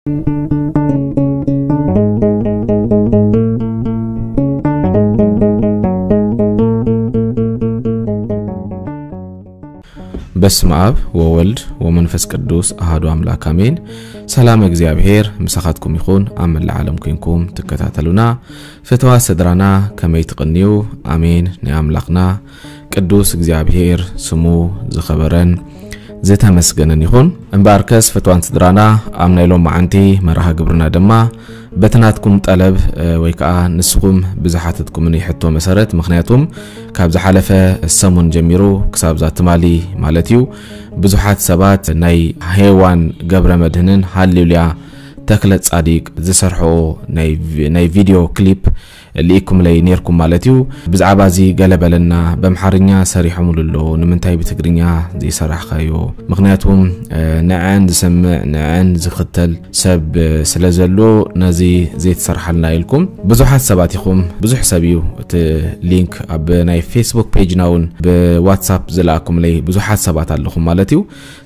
በስመ አብ ወወልድ ወመንፈስ ቅዱስ አሐዱ አምላክ አሜን። ሰላም እግዚኣብሔር ምሳኻትኩም ይኹን። ኣብ መላእ ዓለም ኮይንኩም ትከታተሉና ፍትዋ ስድራና ከመይ ትቕንዩ? ኣሜን። ናይ ኣምላኽና ቅዱስ እግዚኣብሔር ስሙ ዝኸበረን ዝተመስገነን ይኹን። እምበኣርከስ ፍትዋን ስድራና ኣብ ናይ ሎማዓንቲ መርሃ ግብርና ድማ በቲ ናትኩም ጠለብ ወይ ከዓ ንስኹም ብዝሓተትኩምኒ ሕቶ መሰረት፣ ምኽንያቱም ካብ ዝሓለፈ ሰሙን ጀሚሩ ክሳብ ዛትማሊ ማለት እዩ ብዙሓት ሰባት ናይ ሄዋን ገብረ መድህንን ሃሌሉያ ተክለ ጻዲቅ ዝሰርሖ ናይ ቪድዮ ክሊፕ ልኢኩምለይ ኔርኩም ማለት እዩ። ብዛዕባ እዚ ገለ በለና፣ በምሓርኛ ሰሪሖምሉ ኣለዉ፣ ንምንታይ ብትግርኛ ዘይሰራሕካዮ? ምኽንያቱም ንዐን ዝሰምዕ ንዐን ዝኽተል ሰብ ስለ ዘሎ ነዚ ዘይትሰርሓልና ኢልኩም ብዙሓት ሰባት ኢኹም። ብዙሕ ሰብ እዩ እቲ ሊንክ ኣብ ናይ ፌስቡክ ፔጅና እውን ብዋትሳፕ ዝለኣኩምለይ ብዙሓት ሰባት ኣለኹም ማለት እዩ።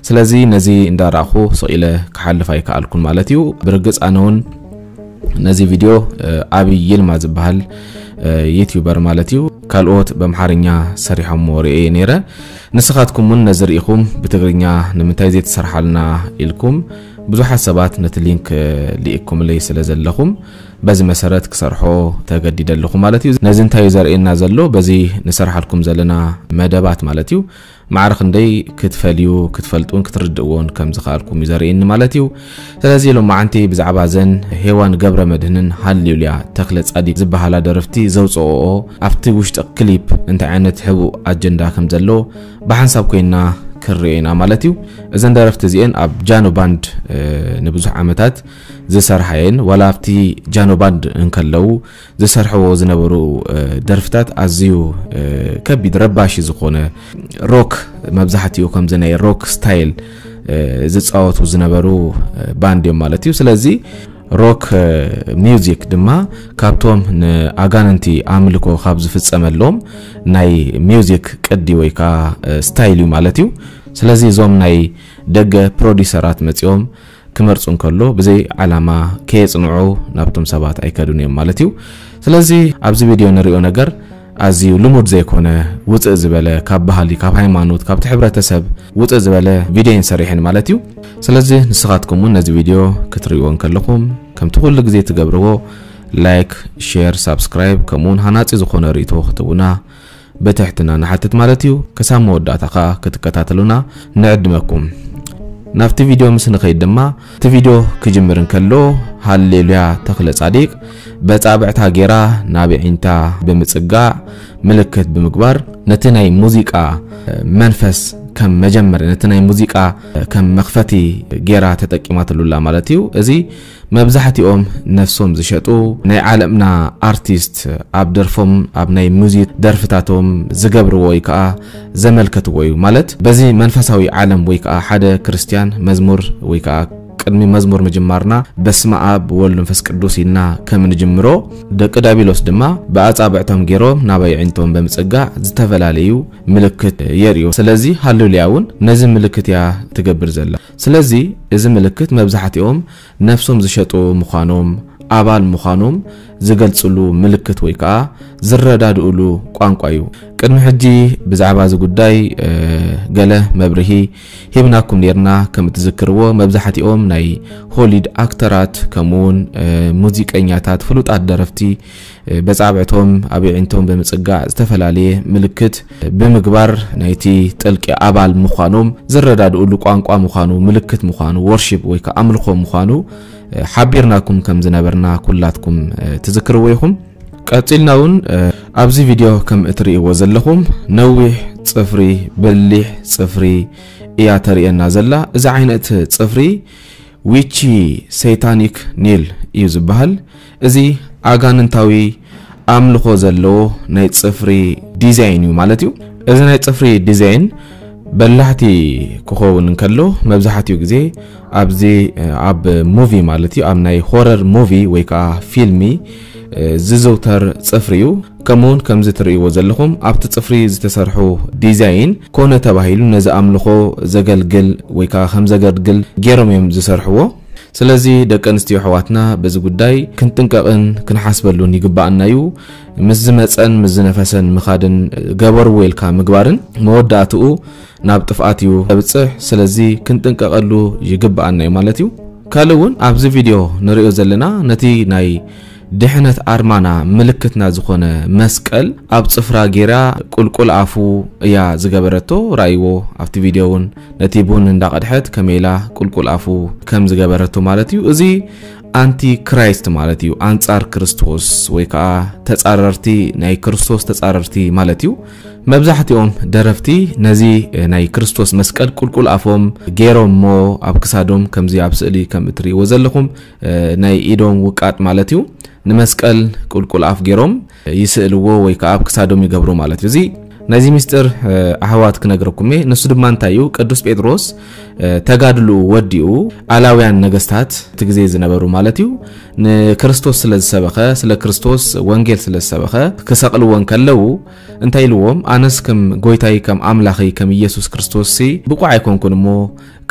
ስለዚ ነዚ እንዳረኣኹ ስቕ ኢለ ክሓልፍ ኣይከኣልኩን ማለት እዩ። ብርግጽ ኣነ እውን ነዚ ቪድዮ ኣብይ ይልማ ዝበሃል ዩቲዩበር ማለት እዩ ካልኦት በምሓርኛ ሰሪሖሞ ርእየ ነይረ። ንስኻትኩም እውን ነዚ ርኢኹም ብትግርኛ ንምንታይ ዘይትሰርሓልና ኢልኩም ብዙሓት ሰባት ነቲ ሊንክ ልኢኩምለይ ስለ ዘለኹም በዚ መሰረት ክሰርሖ ተገዲደ ኣለኹ ማለት እዩ። ነዚ እንታይ እዩ ዘርእየና ዘሎ? በዚ ንሰርሓልኩም ዘለና መደባት ማለት እዩ ማዕረ ክንደይ ክትፈልዩ ክትፈልጡን ክትርድእዎን ከም ዝኸኣልኩም እዩ ዘርእየኒ ማለት እዩ። ስለዚ ሎማዓንቲ ብዛዕባ ዘን ሄዋን ገብረ መድህንን ሃሌሉያ ተክለ ጻዲቅ ዝበሃላ ደረፍቲ ዘውፅኦኦ ኣብቲ ውሽጢ ክሊፕ እንታይ ዓይነት ሕቡእ ኣጀንዳ ከም ዘሎ ብሓንሳብ ኮይና ክንሪኦ ኢና ማለት እዩ። እዘን ደረፍቲ እዚአን ኣብ ጃኖ ባንድ ንብዙሕ ዓመታት ዝሰርሓ እየን። ዋላ ኣብቲ ጃኖ ባንድ እንከለዉ ዝሰርሕዎ ዝነበሩ ደርፍታት ኣዝዩ ከቢድ ረባሺ ዝኾነ ሮክ መብዛሕትኡ ከምዚ ናይ ሮክ ስታይል ዝፃወቱ ዝነበሩ ባንድ እዮም ማለት እዩ። ስለዚ ሮክ ሚውዚክ ድማ ካብቶም ንኣጋንንቲ ኣምልኮ ካብ ዝፍፀመሎም ናይ ሚውዚክ ቅዲ ወይ ከዓ ስታይል እዩ ማለት እዩ። ስለዚ እዞም ናይ ደገ ፕሮዲሰራት መፂኦም ክመርፁ እንከሎ ብዘይ ዓላማ ከየፅንዑ ናብቶም ሰባት ኣይከዱን እዮም ማለት እዩ። ስለዚ ኣብዚ ቪድዮ ንሪኦ ነገር ኣዝዩ ልሙድ ዘይኮነ ውፅእ ዝበለ ካብ ባህሊ ካብ ሃይማኖት ካብቲ ሕብረተሰብ ውፅእ ዝበለ ቪድዮ እየን ሰሪሐን ማለት እዩ። ስለዚ ንስኻትኩም እውን ነዚ ቪድዮ ክትርእይዎ እንከለኹም ከምቲ ኩሉ ግዜ ትገብርዎ ላይክ፣ ሼር፣ ሳብስክራይብ ከምኡውን ሃናፂ ዝኾነ ርእይቶ ክትህቡና ብትሕትና ንሓትት ማለት እዩ። ክሳብ መወዳእታ ከዓ ክትከታተሉና ንዕድመኩም። ናብቲ ቪድዮ ምስ ንኸይድ ድማ እቲ ቪድዮ ክጅምር እንከሎ ሃሌሉያ ተኽለ ጻዲቅ በጻብዕታ ጌራ ናብ ዒንታ ብምጽጋዕ ምልክት ብምግባር ነቲ ናይ ሙዚቃ መንፈስ ከም መጀመርያ ነቲ ናይ ሙዚቃ ከም መኽፈቲ ጌራ ተጠቂማትሉላ ማለት እዩ። እዚ መብዛሕትኦም ነፍሶም ዝሸጡ ናይ ዓለምና ኣርቲስት ኣብ ደርፎም ኣብ ናይ ሙዚክ ደርፍታቶም ዝገብርዎ ወይ ከዓ ዘመልከትዎ እዩ። ማለት በዚ መንፈሳዊ ዓለም ወይ ከዓ ሓደ ክርስትያን መዝሙር ወይ ከዓ ቅድሚ መዝሙር ምጅማርና በስመ ኣብ ወወልድ መንፈስ ቅዱስ ኢልና ከም ንጅምሮ ደቂ ዳቢሎስ ድማ ብኣጻብዕቶም ገይሮም ናብ ኣዕይንቶም ብምጽጋዕ ዝተፈላለዩ ምልክት የርእዩ። ስለዚ ሃሌሉያ እውን ነዚ ምልክት እያ ትገብር ዘላ። ስለዚ እዚ ምልክት መብዛሕትኦም ነፍሶም ዝሸጡ ምዃኖም ኣባል ምዃኖም ዝገልጽሉ ምልክት ወይ ከዓ ዝረዳድእሉ ቋንቋ እዩ። ቅድሚ ሕጂ ብዛዕባ እዚ ጉዳይ ገለ መብርሂ ሂብናኩም ኔርና። ከም እትዝክርዎ መብዛሕትኦም ናይ ሆሊድ ኣክተራት ከምኡውን ሙዚቀኛታት ፍሉጣት ደረፍቲ በጻብዕቶም ኣብ ኣዕይንቶም ብምጽጋዕ ዝተፈላለየ ምልክት ብምግባር ናይቲ ጥልቂ ኣባል ምዃኖም ዝረዳድእሉ ቋንቋ ምዃኑ ምልክት ምዃኑ ወርሺፕ ወይ ከዓ ኣምልኾ ምዃኑ ሓቢርናኩም ከም ዝነበርና ኩላትኩም ትዝክርዎ ኢኹም። ቀጺልና እውን ኣብዚ ቪድዮ ከም እትርእይዎ ዘለኹም ነዊሕ ጽፍሪ በሊሕ ጽፍሪ እያ ተርእየና ዘላ። እዚ ዓይነት ጽፍሪ ዊቺ ሰይታኒክ ኒል እዩ ዝበሃል። እዚ ኣጋንንታዊ ኣምልኾ ዘለዎ ናይ ጽፍሪ ዲዛይን እዩ ማለት እዩ። እዚ ናይ ጽፍሪ ዲዛይን በላሕቲ ክኸውን እንከሎ መብዛሕትኡ ግዜ ኣብዚ ኣብ ሙቪ ማለት እዩ ኣብ ናይ ሆረር ሙቪ ወይ ከዓ ፊልሚ ዝዝውተር ጽፍሪ እዩ። ከምኡውን ከምዚ ትርእይዎ ዘለኹም ኣብቲ ጽፍሪ ዝተሰርሑ ዲዛይን ኮነ ተባሂሉ ነዚ ኣምልኾ ዘገልግል ወይ ከዓ ከም ዘገልግል ገይሮም እዮም ዝሰርሕዎ። ስለዚ ደቂ ኣንስትዮ ኣሕዋትና በዚ ጉዳይ ክንጥንቀቕን ክንሓስበሉን ይግባኣና እዩ። ምስ ዝመጸን ምስ ዝነፈሰን ምኻድን ገበርዎ ኢልካ ምግባርን መወዳእትኡ ናብ ጥፍኣት እዩ ዘብጽሕ። ስለዚ ክንጥንቀቐሉ ይግባኣና እዩ ማለት እዩ። ካልእ እውን ኣብዚ ቪድዮ ንሪኦ ዘለና ነቲ ናይ ድሕነት ኣርማና ምልክትና ዝኾነ መስቀል ኣብ ጽፍራ ጌራ ቁልቁል ኣፉ እያ ዝገበረቶ። ራእይዎ ኣብቲ ቪድዮ እውን ነቲ ቡን እንዳቐድሐት ከመይ ኢላ ቁልቁል ኣፉ ከም ዝገበረቶ ማለት እዩ። እዚ ኣንቲ ክራይስት ማለት እዩ፣ ኣንጻር ክርስቶስ ወይ ከዓ ተጻረርቲ፣ ናይ ክርስቶስ ተጻረርቲ ማለት እዩ። መብዛሕትኦም ደረፍቲ ነዚ ናይ ክርስቶስ መስቀል ቁልቁል ኣፎም ገይሮም እሞ ኣብ ክሳዶም ከምዚ ኣብ ስእሊ ከም እትርእይዎ ዘለኹም ናይ ኢዶም ውቃጥ ማለት እዩ ንመስቀል ቁልቁል ኣፍ ገይሮም ይስእልዎ ወይ ከዓ ኣብ ክሳዶም ይገብሩ ማለት እዩ። እዚ ነዚ ምስጢር ኣሕዋት ክነግረኩም እየ። ንሱ ድማ እንታይ እዩ? ቅዱስ ጴጥሮስ ተጋድልኡ ወዲኡ ኣላውያን ነገስታት እቲ ግዜ ዝነበሩ ማለት እዩ ንክርስቶስ ስለ ዝሰበኸ፣ ስለ ክርስቶስ ወንጌል ስለ ዝሰበኸ ክሰቕልዎ እንከለዉ እንታይ ኢልዎም? ኣነስ ከም ጎይታይ ከም ኣምላኸይ ከም ኢየሱስ ክርስቶስ ሲ ብቑዕ ኣይኮንኩን እሞ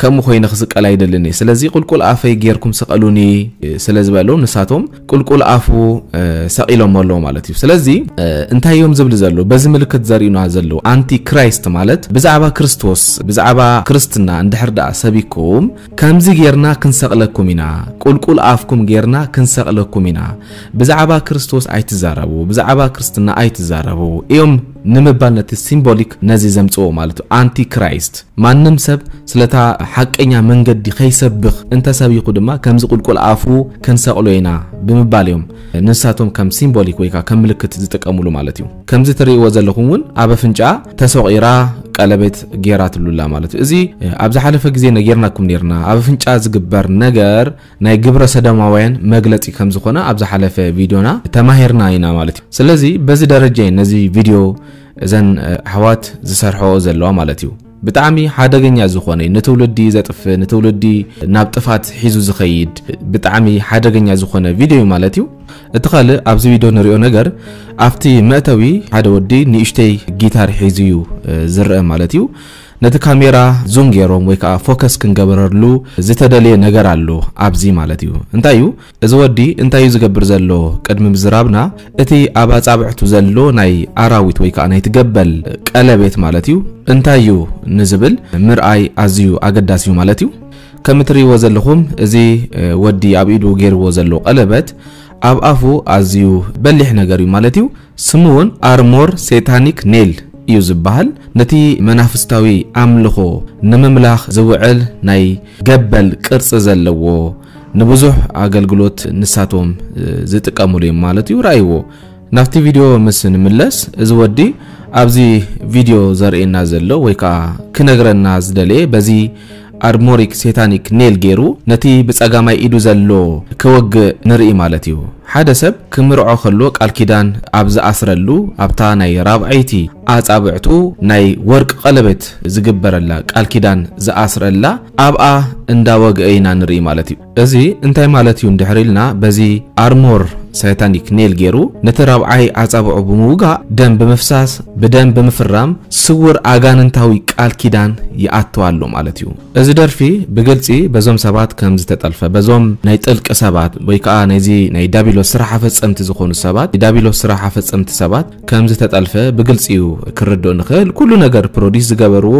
ከምኡ ኮይነ ክስቀል ኣይደልን እየ። ስለዚ ቁልቁል ኣፈይ ጌርኩም ስቐሉኒ ስለ ዝበሉ ንሳቶም ቁልቁል ኣፉ ሰቒሎም ኣለዉ ማለት እዩ። ስለዚ እንታይ እዮም ዝብል ዘለዉ? በዚ ምልክት ዘርእዩና ዘለዉ ኣንቲ ክራይስት ማለት ብዛዕባ ክርስቶስ ብዛዕባ ክርስትና እንድሕር ደኣ ሰቢኩም ከምዚ ጌርና ክንሰቕለኩም ኢና፣ ቁልቁል ኣፍኩም ጌርና ክንሰቕለኩም ኢና፣ ብዛዕባ ክርስቶስ ኣይትዛረቡ፣ ብዛዕባ ክርስትና ኣይትዛረቡ እዮም ንምባል ነቲ ሲምቦሊክ ነዚ ዘምጽዎ ማለት እዩ። ኣንቲ ክራይስት ማንም ሰብ ስለታ ሓቀኛ መንገዲ ከይሰብኽ እንተሰቢኹ ድማ ከምዚ ቁልቁል ኣፉ ክንሰቕሎ ኢና ብምባል እዮም ንሳቶም ከም ሲምቦሊክ ወይ ከዓ ከም ምልክት ዝጥቀሙሉ ማለት እዩ። ከምዚ ትርእይዎ ዘለኹም እውን ኣብ ኣፍንጫ ተሰቒራ ቀለቤት ጌራትሉላ ማለት እዩ። እዚ ኣብ ዝሓለፈ ግዜ ነጊርናኩም ነርና። ኣብ ኣፍንጫ ዝግበር ነገር ናይ ግብረ ሰዶማውያን መግለጺ ከም ዝኾነ ኣብ ዝሓለፈ ቪድዮና ተማሂርና ኢና ማለት እዩ። ስለዚ በዚ ደረጃ እዩ ነዚ ቪድዮ እዘን ኣሕዋት ዝሰርሐኦ ዘለዋ ማለት እዩ። ብጣዕሚ ሓደገኛ ዝኾነ ንትውልዲ ዘጥፍእ ንትውልዲ ናብ ጥፋት ሒዙ ዝኸይድ ብጣዕሚ ሓደገኛ ዝኾነ ቪድዮ እዩ ማለት እዩ። እቲ ካልእ ኣብዚ ቪድዮ ንሪኦ ነገር ኣብቲ መእተዊ ሓደ ወዲ ንእሽተይ ጊታር ሒዙ እዩ ዝረአ ማለት እዩ። ነቲ ካሜራ ዙም ገይሮም ወይ ከዓ ፎከስ ክንገበረሉ ዝተደልየ ነገር ኣሎ ኣብዚ ማለት እዩ። እንታይ እዩ እዚ ወዲ እንታይ እዩ ዝገብር ዘሎ? ቅድሚ ምዝራብና እቲ ኣብ ኣጻብዕቱ ዘሎ ናይ ኣራዊት ወይ ከዓ ናይቲ ገበል ቀለቤት ማለት እዩ እንታይ እዩ ንዝብል ምርኣይ ኣዝዩ ኣገዳሲ እዩ ማለት እዩ። ከም እትርእይዎ ዘለኹም እዚ ወዲ ኣብ ኢዱ ገይርዎ ዘሎ ቀለበት ኣብ ኣፉ ኣዝዩ በሊሕ ነገር እዩ ማለት እዩ። ስሙ እውን ኣርሞር ሴታኒክ ኔል እዩ ዝበሃል። ነቲ መናፍስታዊ ኣምልኾ ንምምላኽ ዝውዕል ናይ ገበል ቅርጺ ዘለዎ ንብዙሕ ኣገልግሎት ንሳቶም ዝጥቀምሉ እዮም ማለት እዩ። ረኣይዎ። ናብቲ ቪድዮ ምስ ንምለስ እዚ ወዲ ኣብዚ ቪድዮ ዘርእየና ዘሎ ወይ ከዓ ክነግረና ዝደለየ በዚ ኣርሞሪክ ሴታኒክ ኔል ገይሩ ነቲ ብጸጋማይ ኢዱ ዘሎ ክወግእ ንርኢ ማለት እዩ። ሓደ ሰብ ክምርዖ ከሎ ቃል ኪዳን ኣብ ዝኣስረሉ ኣብታ ናይ ራብዐይቲ ኣጻብዕቱ ናይ ወርቂ ቀለበት ዝግበረላ ቃል ኪዳን ዝኣስረላ ኣብኣ እንዳወግአ ኢና ንርኢ ማለት እዩ። እዚ እንታይ ማለት እዩ እንድሕር ኢልና በዚ ኣርሞር ሳይታኒክ ኔል ገይሩ ነቲ ራብዓይ ኣጻብዑ ብምውጋእ ደም ብምፍሳስ ብደም ብምፍራም ስውር ኣጋንንታዊ ቃል ኪዳን ይኣቱ ኣሎ ማለት እዩ። እዚ ደርፊ ብግልጺ በዞም ሰባት ከም ዝተጠልፈ በዞም ናይ ጥልቂ ሰባት ወይ ከዓ ነዚ ናይ ዳቢሎስ ስራሕ ኣፈጸምቲ ዝኾኑ ሰባት ዳቢሎስ ስራሕ ኣፈጸምቲ ሰባት ከም ዝተጠልፈ ብግልጺ እዩ ክርድኦ ንኽእል። ኩሉ ነገር ፕሮዲስ ዝገበርዎ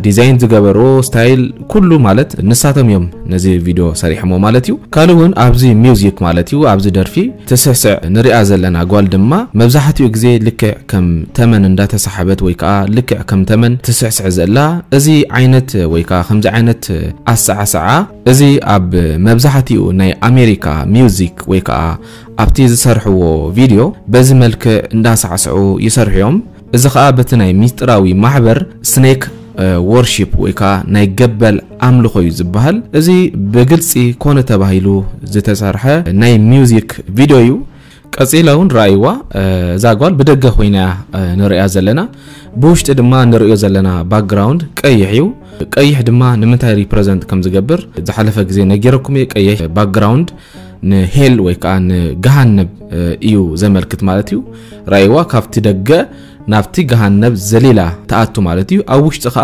ዲዛይን ዝገበርዎ ስታይል ኩሉ ማለት ንሳቶም እዮም ነዚ ቪድዮ ሰሪሖሞ ማለት እዩ። ካልእ እውን ኣብዚ ሚውዚክ ማለት እዩ ኣብዚ ደርፊ ትስዕስዕ ንሪኣ ዘለና ጓል ድማ መብዛሕትኡ ግዜ ልክዕ ከም ተመን እንዳተሳሓበት ወይ ከዓ ልክዕ ከም ተመን ትስዕስዕ ዘላ እዚ ዓይነት ወይ ከዓ ከምዚ ዓይነት ኣሰዓስዓ እዚ ኣብ መብዛሕትኡ ናይ ኣሜሪካ ሚውዚክ ወይ ከዓ ኣብቲ ዝሰርሕዎ ቪድዮ በዚ መልክዕ እንዳሳዕስዑ ይሰርሑ እዮም። እዚ ከዓ በቲ ናይ ሚስጥራዊ ማሕበር ስኔክ ወርሺፕ ወይ ከዓ ናይ ገበል ኣምልኾ እዩ ዝበሃል። እዚ ብግልፂ ኮነ ተባሂሉ ዝተሰርሐ ናይ ሚውዚክ ቪድዮ እዩ። ቀፂላ እውን ረኣይዋ እዛ ጓል ብደገ ኮይና ንሪኣ ዘለና ብውሽጢ ድማ ንሪኦ ዘለና ባክግራውንድ ቀይሕ እዩ። ቀይሕ ድማ ንምንታይ ሪፕረዘንት ከም ዝገብር ዝሓለፈ ግዜ ነጊረኩም እየ። ቀይሕ ባክግራውንድ ንሄል ወይ ከዓ ንገሃነብ እዩ ዘመልክት ማለት እዩ። ረኣይዋ ካብቲ ደገ ናብቲ ገሃነብ ዘሊላ ትኣቱ ማለት እዩ። ኣብ ውሽጢ ከዓ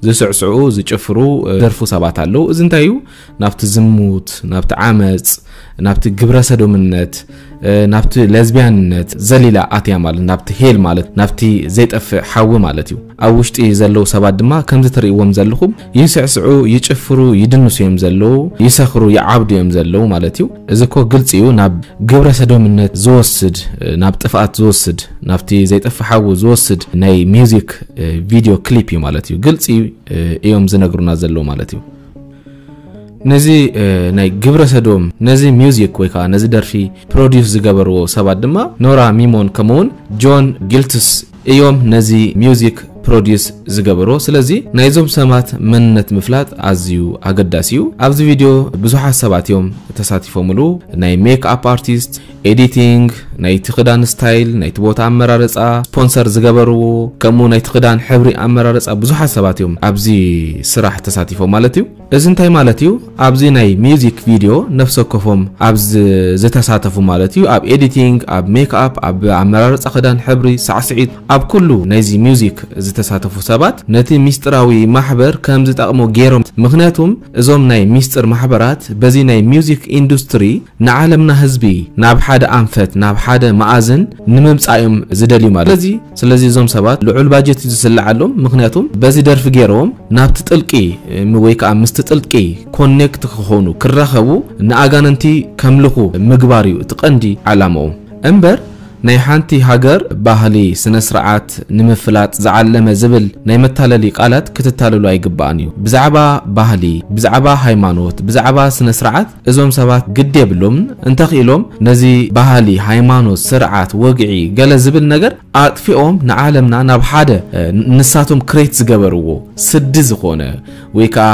ዝስዕስዑ ዝጭፍሩ ደርፉ ሰባት ኣለዉ። እዚ እንታይ እዩ? ናብቲ ዝሙት፣ ናብቲ ዓመፅ፣ ናብቲ ግብረ ሰዶምነት፣ ናብቲ ለዝቢያንነት ዘሊላ ኣትያ ማለት ናብቲ ሄል ማለት ናብቲ ዘይጠፍእ ሓዊ ማለት እዩ። ኣብ ውሽጢ ዘለዉ ሰባት ድማ ከምዚ ትርእይዎም ዘለኹም ይስዕስዑ፣ ይጭፍሩ፣ ይድንሱ እዮም ዘለዉ፣ ይሰኽሩ፣ ይዓብዱ እዮም ዘለዉ ማለት እዩ። እዚ እኮ ግልፂ እዩ ናብ ግብረ ሰዶምነት ዝወስድ፣ ናብ ጥፍኣት ዝወስድ፣ ናብቲ ዘይጠፍእ ሓዊ ዝወስድ ናይ ሚውዚክ ቪድዮ ክሊፕ እዩ ማለት እዩ። ግልፂ እዮም ዝነግሩና ዘለዉ ማለት እዩ። ነዚ ናይ ግብረ ሰዶም ነዚ ሚውዚክ ወይ ከዓ ነዚ ደርፊ ፕሮዲውስ ዝገበርዎ ሰባት ድማ ኖራ ሚሞን ከምኡውን ጆን ጊልትስ እዮም ነዚ ሚውዚክ ፕሮዲውስ ዝገበርዎ። ስለዚ ናይዞም ሰባት መንነት ምፍላጥ ኣዝዩ ኣገዳሲ እዩ። ኣብዚ ቪድዮ ብዙሓት ሰባት እዮም ተሳቲፎምሉ። ናይ ሜክ ኣፕ ኣርቲስት፣ ኤዲቲንግ፣ ናይቲ ክዳን ስታይል፣ ናይቲ ቦታ ኣመራረፃ፣ ስፖንሰር ዝገበርዎ፣ ከምኡ ናይቲ ክዳን ሕብሪ ኣመራረፃ ብዙሓት ሰባት እዮም ኣብዚ ስራሕ ተሳቲፎም ማለት እዩ። እዚ እንታይ ማለት እዩ? ኣብዚ ናይ ሚውዚክ ቪድዮ ነፍሰ ወከፎም ኣብ ዝ- ዝተሳተፉ ማለት እዩ። ኣብ ኤዲቲንግ፣ ኣብ ሜክ ኣፕ፣ ኣብ ኣመራረፃ ክዳን ሕብሪ፣ ሳዕስዒት፣ ኣብ ኩሉ ናይዚ ሚውዚክ ዝተሳተፉ ሰባት ነቲ ሚስጥራዊ ማሕበር ከም ዝጠቕሞ ገይሮም። ምኽንያቱም እዞም ናይ ሚስጥር ማሕበራት በዚ ናይ ሚውዚክ ኢንዱስትሪ ንዓለምና ህዝቢ ናብ ሓደ ኣንፈት ናብ ሓደ መኣዝን ንምምፃእ እዮም ዝደልዩ ማለት። ስለዚ ስለዚ እዞም ሰባት ልዑል ባጀት እዩ ዝስልዓሎም። ምኽንያቱም በዚ ደርፊ ገይሮም ናብቲ ጥልቂ ወይ ከዓ ምስቲ ጥልቂ ኮኔክት ክኾኑ ክራኸቡ ንኣጋንንቲ ከምልኹ ምግባር እዩ እቲ ቀንዲ ዓላማኦም እምበር ናይ ሓንቲ ሃገር ባህሊ ስነ ስርዓት ንምፍላጥ ዝዓለመ ዝብል ናይ መታለሊ ቃላት ክትታለሉ ኣይግባእን እዩ። ብዛዕባ ባህሊ፣ ብዛዕባ ሃይማኖት፣ ብዛዕባ ስነ ስርዓት እዞም ሰባት ግድ የብሎም። እንተኽኢሎም ነዚ ባህሊ፣ ሃይማኖት፣ ስርዓት፣ ወግዒ ገለ ዝብል ነገር ኣጥፊኦም ንዓለምና ናብ ሓደ ንሳቶም ክሬት ዝገበርዎ ስዲ ዝኾነ ወይ ከዓ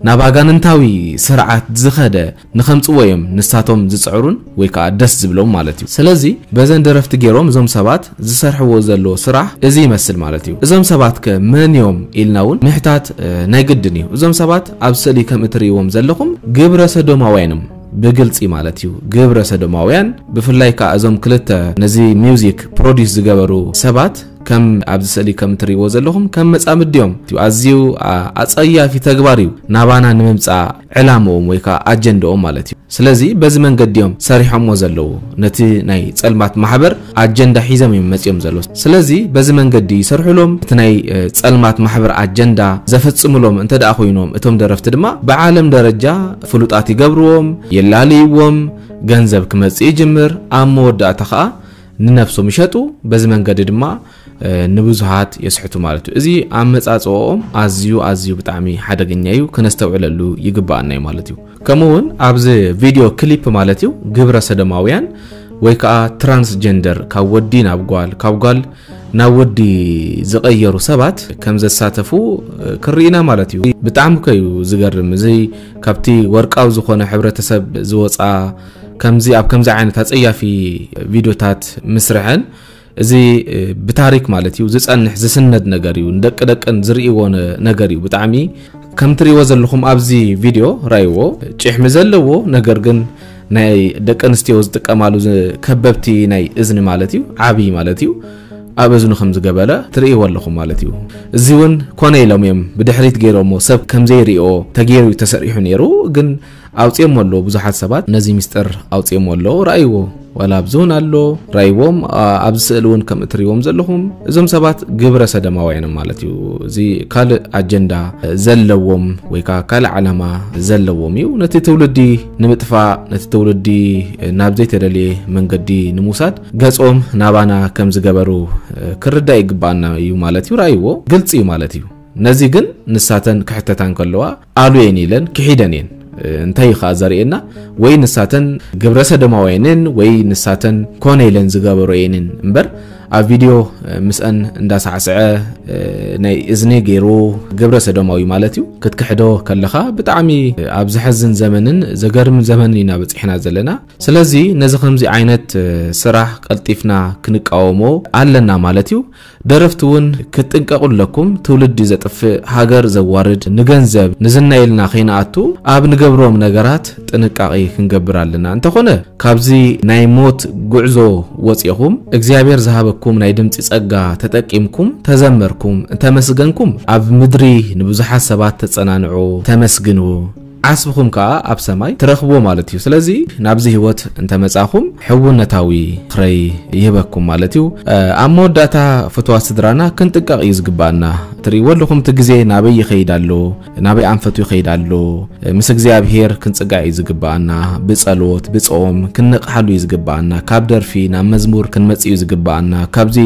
ናብ ኣጋንንታዊ ስርዓት ዝኸደ ንኸምፅዎ እዮም ንሳቶም ዝፅዕሩን ወይ ከዓ ደስ ዝብሎም ማለት እዩ። ስለዚ በዘን ደረፍቲ ገይሮም እዞም ሰባት ዝሰርሕዎ ዘለዎ ስራሕ እዚ ይመስል ማለት እዩ። እዞም ሰባት ከ መን እዮም ኢልና እውን ምሕታት ናይ ግድን እዩ። እዞም ሰባት ኣብ ስእሊ ከም እትርእይዎም ዘለኹም ግብረ ሰዶማውያን እዮም። ብግልፂ ማለት እዩ ግብረ ሰዶማውያን። ብፍላይ ከዓ እዞም ክልተ ነዚ ሚውዚክ ፕሮዲስ ዝገበሩ ሰባት ከም ኣብዚ ስእሊ ከም እትርእይዎ ዘለኹም ከም መጻምዲ እዮም። ኣዝዩ ኣጸያፊ ተግባር እዩ ናባና ንምምጻእ ዕላምኦም ወይ ከዓ ኣጀንዳኦም ማለት እዩ። ስለዚ በዚ መንገዲ እዮም ሰሪሖሞ ዘለዉ። ነቲ ናይ ጸልማት ማሕበር ኣጀንዳ ሒዞም እዮም መጺኦም ዘለዉ። ስለዚ በዚ መንገዲ ይሰርሑሎም። እቲ ናይ ጸልማት ማሕበር ኣጀንዳ ዘፈጽሙሎም እንተ ደኣ ኮይኖም እቶም ደረፍቲ ድማ ብዓለም ደረጃ ፍሉጣት ይገብርዎም፣ የላልይዎም፣ ገንዘብ ክመጽእ ይጅምር። ኣብ መወዳእታ ከዓ ንነብሶም ይሸጡ። በዚ መንገዲ ድማ ንብዙሃት የስሕቱ ማለት እዩ። እዚ ኣመጻጽኦም ኣዝዩ ኣዝዩ ብጣዕሚ ሓደገኛ እዩ፣ ክነስተውዕለሉ ይግባኣና እዩ ማለት እዩ። ከምኡ እውን ኣብዚ ቪድዮ ክሊፕ ማለት እዩ ግብረ ሰዶማውያን ወይ ከዓ ትራንስጀንደር ካብ ወዲ ናብ ጓል ካብ ጓል ናብ ወዲ ዝቐየሩ ሰባት ከም ዘሳተፉ ክርኢና ማለት እዩ። ብጣዕሚ ከዩ ዝገርም እዚ ካብቲ ወርቃዊ ዝኾነ ሕብረተሰብ ዝወፃ ከምዚ ኣብ ከምዚ ዓይነት ኣፀያፊ ቪድዮታት ምስርሐን እዚ ብታሪክ ማለት እዩ ዝፀንሕ ዝስነድ ነገር እዩ። ንደቂ ደቅን ዝርእይዎ ነገር እዩ። ብጣዕሚ ከም ትርእይዎ ዘለኹም ኣብዚ ቪድዮ ራይዎ ጭሕሚ ዘለዎ ነገር ግን ናይ ደቂ ኣንስትዮ ዝጥቀማሉ ከበብቲ ናይ እዝኒ ማለት እዩ ዓብይ ማለት እዩ ኣብ እዝኑ ከም ዝገበረ ትርእይዎ ኣለኹም ማለት እዩ። እዚ እውን ኮነ ኢሎም እዮም ብድሕሪት ገይሮሞ ሰብ ከም ዘይርእዮ ተገይሩ ተሰሪሑ ነይሩ ግን ኣውፅኦሞ ኣለዉ። ብዙሓት ሰባት ነዚ ሚስጥር ኣውፅኦሞ ኣለዉ። ረኣይዎ ዋላ ኣብዚ እውን ኣሎ ረኣይዎም። ኣብዚ ስእሊ እውን ከም እትርእይዎም ዘለኹም እዞም ሰባት ግብረ ሰደማውያን ማለት እዩ። እዚ ካልእ ኣጀንዳ ዘለዎም ወይ ከዓ ካልእ ዓላማ ዘለዎም እዩ። ነቲ ትውልዲ ንምጥፋእ ነቲ ትውልዲ ናብ ዘይተደልየ መንገዲ ንምውሳድ ገፆም ናባና ከም ዝገበሩ ክርዳእ ይግባኣና እዩ ማለት እዩ። ረኣይዎ ግልፂ እዩ ማለት እዩ። ነዚ ግን ንሳተን ክሕተታ እንከለዋ ኣሉ እየን ኢለን ክሒደን እየን። እንታይ እዩ ከዓ ዘርእየና ወይ ንሳተን ግብረ ሰዶማውያንን ወይ ንሳተን ኮነ ኢለን ዝገበሮ እየንን እምበር ኣብ ቪድዮ ምስአን እንዳሳዕስዐ ናይ እዝኒ ገይሩ ግብረ ሰዶማዊ ማለት እዩ ክትክሕዶ ከለኻ ብጣዕሚ ኣብ ዘሐዝን ዘመንን ዘገርም ዘመንን ኢና በፂሕና ዘለና። ስለዚ ነዚ ከምዚ ዓይነት ስራሕ ቀልጢፍና ክንቃወሞ ኣለና ማለት እዩ። ደረፍቲ እውን ክትጥንቀቑ ኣለኩም። ትውልዲ ዘጥፍእ ሃገር ዘዋርድ ንገንዘብ ንዝና ኢልና ከይንኣቱ ኣብ ንገብሮም ነገራት ጥንቃቄ ክንገብር ኣለና። እንተኾነ ካብዚ ናይ ሞት ጉዕዞ ወፂኹም እግዚኣብሔር ዝሃበኩም ኩም ናይ ድምፂ ጸጋ ተጠቂምኩም ተዘመርኩም እንተመስገንኩም፣ ኣብ ምድሪ ንብዙሓት ሰባት ተጸናንዑ፣ ተመስግንዎ፣ ዓስብኹም ከኣ ኣብ ሰማይ ትረኽብዎ ማለት እዩ። ስለዚ ናብዚ ህይወት እንተመጻኹም ሕውነታዊ ምኽረይ ይህበኩም ማለት እዩ። ኣብ መወዳእታ ፍትዋ ስድራና ክንጥንቀቕ እዩ ዝግባኣና። ትርእይዎ ኣለኹም እቲ ግዜ ናበይ ይኸይድ ኣሎ፣ ናበይ ኣንፈቱ ይኸይድ ኣሎ። ምስ እግዚኣብሔር ክንጽጋዕ እዩ ዝግባኣና። ብጸሎት ብጾም ክንነቕሓሉ እዩ ዝግባኣና። ካብ ደርፊ ናብ መዝሙር ክንመጽእ እዩ ዝግባኣና። ካብዚ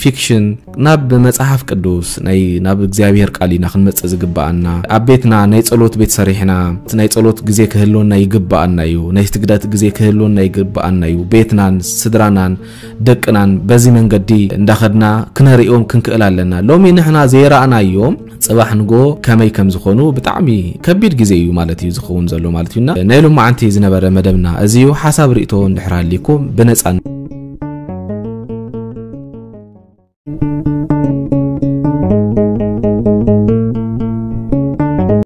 ፊክሽን ናብ መጽሓፍ ቅዱስ ናይ ናብ እግዚኣብሔር ቃል ኢና ክንመጽእ ዝግባኣና። ኣብ ቤትና ናይ ጸሎት ቤት ሰሪሕና ናይ ጸሎት ግዜ ክህልወና ይግባኣና እዩ። ናይ ስግደት ግዜ ክህልወና ይግባኣና እዩ። ቤትናን ስድራናን ደቅናን በዚ መንገዲ እንዳኸድና ክነርእዮም ክንክእል ኣለና። ሎሚ ንሕና ዘይረኣናዮም ጽባሕ ንጎ ከመይ ከም ዝኾኑ ብጣዕሚ ከቢድ ግዜ እዩ ማለት እዩ ዝኸውን ዘሎ ማለት እዩና። ናይ ሎማዓንቲ ዝነበረ መደብና እዚ እዩ። ሓሳብ ርእቶ እንድሕር ሃሊኩም ብነጻ